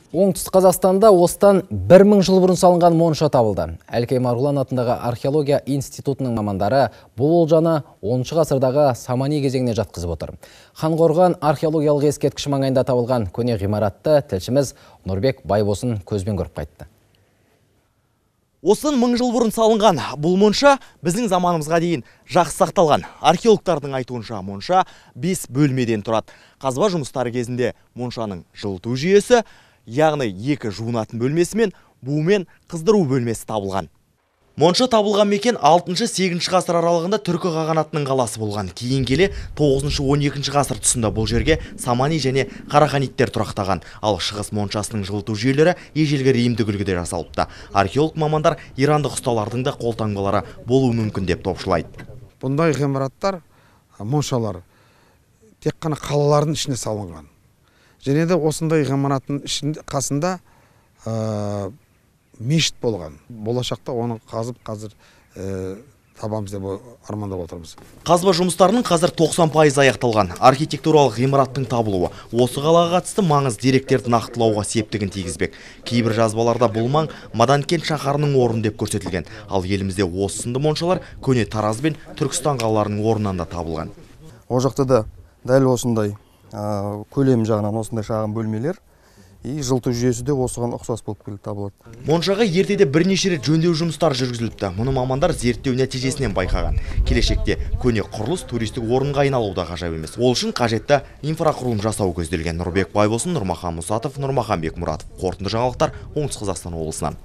Оңтүстік Қазақстанда осыдан 1000 жыл бұрын салынған монша табылды. Әлкей Марғұлан атындағы археология институтының мамандары бұл олжаны 10 ғасырдағы Самани кезеңіне жатқызып отыр. Ханқорған археологиялық ескерткіш маңайында табылған көне ғимаратты тілшіміз Нұрбек Байбосын көзбен көріп қайтты. Осыдан 1000 жыл бұрын салынған бұл монша біздің заманымызға дейін жақсы сақталған. Археологтардың айтуынша монша 5 бөлмеден тұрады. Қазба жұмыстары кезінде моншаның жылыту жүйесі, яғни 2 жуынатын бөлмесі мен бу мен қыздыру бөлмесі табылған. Монша табылған мекен 6-8 ғасыр аралығында түркі қағанатының қаласы болған. Кейін келе 9-12 ғасыр тұсында бұл жерге Самани және Қараханиттер тұрақтаған. Ал шығыс моншасының жылыту жүйелері ежелгі римдік үлгіде жасалыпты. Археолог мамандар ирандық ұсталардың да қолтаңбалары болуы мүмкін деп топшылайды. Бұндай ғимараттар, моншалар тек қана қалалардың ішіне салынған. Және де осындай ғимараттың қасында мешіт болған. Болашақта оны қазып қазір табамыз деп армандап отырмыз. Қазба жұмыстарының қазір 90% аяқталған. Архитектуралық ғимараттың табылуы осы қалаға қатысты маңыз деректерді нақтылауға септігін тигізбек. Кейбір жазбаларда бұл маң Маданкент шаһарының орны деп көрсетілген. Ал елімізде осы сынды моншалар көне Тараз бен Түркістан қалаларының орнынан да табылған. Ол жақта да дәл осындай көлем жағынан осындай шағын бөлмелер и жылыту жүйесі де осыған ұқсас болып келіп табылады. Моншаға ертеде бірнеше рет жөндеу жұмыстары жүргізіліпті. Мұны мамандар зерттеу нәтижесінен байқаған. Келешекте көне құрылыс туристік орынға айналуда ғажап емес. Ол үшін қажетті инфрақұрылым жасау көзделген. Нұрбек Байбосын, Нұрмахан Мұсатов, Нұрмахан Бекмұратов. Қорытынды жаңалықтар Оңтүстік Қазақстан облысынан.